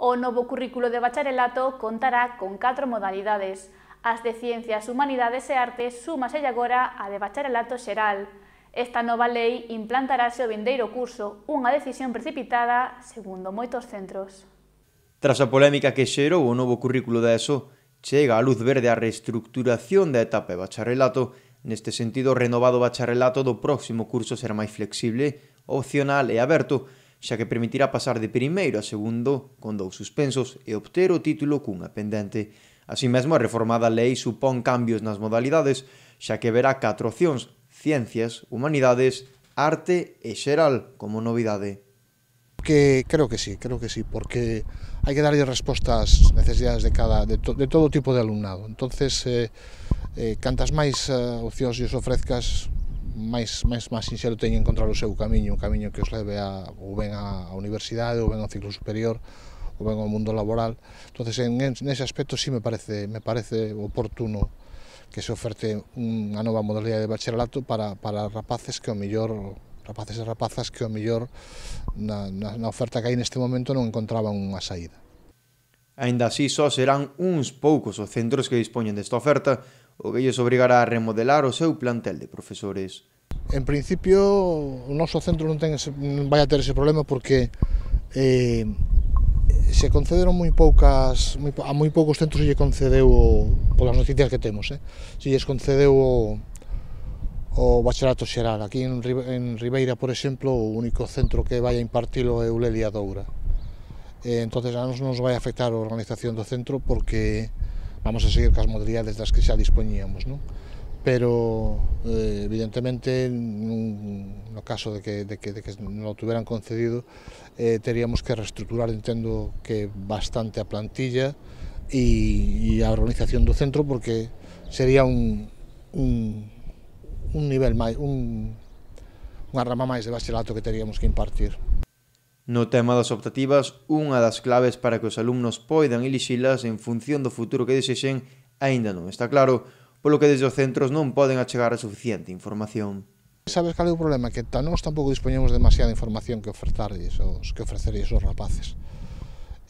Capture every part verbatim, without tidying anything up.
O novo currículo de bacharelato contará con catro modalidades. As de Ciencias, Humanidades e Artes súmaselle agora a de bacharelato xeral. Esta nova lei implantarase o vindeiro curso, unha decisión precipitada, segundo moitos centros. Tras a polémica que xerou o novo currículo da ESO, chega a luz verde a reestructuración da etapa de bacharelato. Neste sentido, o renovado bacharelato do próximo curso será máis flexible, opcional e aberto, xa que permitirá pasar de primeiro a segundo con dous suspensos e obter o título cunha pendente. Así mesmo, a reformada lei supón cambios nas modalidades, xa que verá catro opcións: Ciencias, Humanidades, Arte e Xeral como novidade. Que creo que sí, creo que sí, porque hai que darlle resposta ás necesidades de cada de, to, de todo tipo de alumnado. Entonces, eh, eh, cantas máis uh, opcións lles ofrezcas, máis, máis, máis sinxelo teñen encontrar o seu camiño, un camiño que os leve a, ou ben á universidade, ou ben ao ciclo superior, ou ben ao mundo laboral. Entonces, en, en ese aspecto sí me parece, me parece oportuno que se oferte unha nova modalidade de bacharelato para, para rapaces que o mellor rapaces e rapazas que o mellor na, na, na oferta que hai neste momento non encontraban unha saída. Aínda así, só serán uns poucos os centros que dispoñen desta oferta, o que lles obrigará a remodelar o seu plantel de profesores. En principio, o noso centro non, ten ese, non vai a ter ese problema porque eh, se concederon moi poucas, moi, a moi poucos centros se lle concedeu, polas noticias que temos, eh, se lles concedeu o, o bacharelato xeral. Aquí en, en Ribeira, por exemplo, o único centro que vai a impartilo é Ulelia Doura. Eh, entonces a nos nos vai a afectar a organización do centro porque vamos a seguir cas modalidades das que xa dispoñíamos, non? Pero eh, evidentemente nun, no caso de que, de que, de que non o tuveran concedido, eh, teríamos que reestructurar, entendo que bastante a plantilla e, e a organización do centro, porque sería un, un un nivel máis, un, unha rama máis de bacharelato que teríamos que impartir. No tema das optativas, unha das claves para que os alumnos poidan elixilas en función do futuro que desexen aínda non está claro, polo que desde os centros non poden achegar a suficiente información. Sabes cal é o problema? Que nós tampouco dispoñemos demasiada información que ofertarlles, os, que ofrecerlles os rapaces.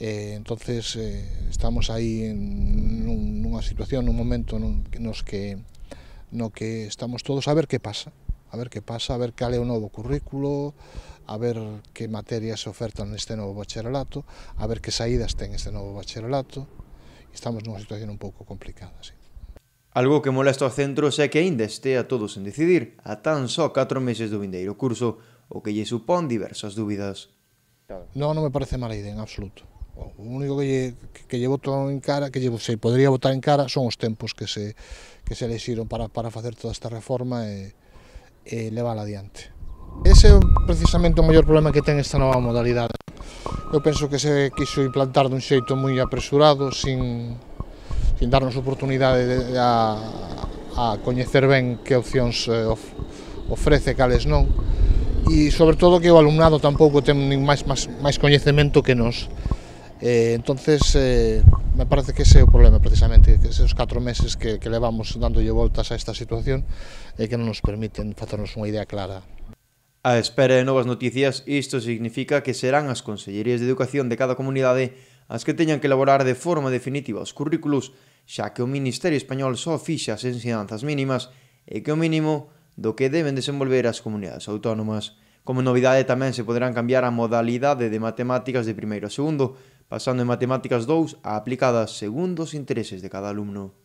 Eh, entonces, eh, estamos aí en nunha situación, nun momento nun, nos que no que estamos todos a ver que pasa, a ver que pasa, a ver cal é o novo currículo, a ver que materias se ofertan neste novo bacharelato, a ver que saídas ten este novo bacharelato. Estamos nunha situación un pouco complicada, sí. Algo que molesta aos centros é que aínda estea todos en decidir, a tan só catro meses do vindeiro curso, o que lle supón diversas dúbidas. Non, non me parece mala idea en absoluto. O único que lle, que lle boto en cara, que lle, se podría botar en cara, son os tempos que se, que se elexiron para, para facer toda esta reforma e, e levala adiante. Ese é precisamente o maior problema que ten esta nova modalidade. Eu penso que se quiso implantar dun xeito moi apresurado, sin, sin darnos oportunidade de, a, a coñecer ben que opcións of, ofrece, cales non, e sobre todo que o alumnado tampouco ten máis, máis, máis coñecemento que nos. Eh, entonces, eh, me parece que ese é o problema precisamente, que esos catro meses que, que levamos dándolle voltas a esta situación e eh, que non nos permiten facernos unha idea clara. A espera de novas noticias, isto significa que serán as consellerías de educación de cada comunidade as que teñan que elaborar de forma definitiva os currículos, xa que o Ministerio Español só fixa as ensinanzas mínimas e que o mínimo do que deben desenvolver as comunidades autónomas. Como novidade tamén se poderán cambiar a modalidade de matemáticas de primeiro a segundo, pasando en matemáticas dous a aplicadas segundo os intereses de cada alumno.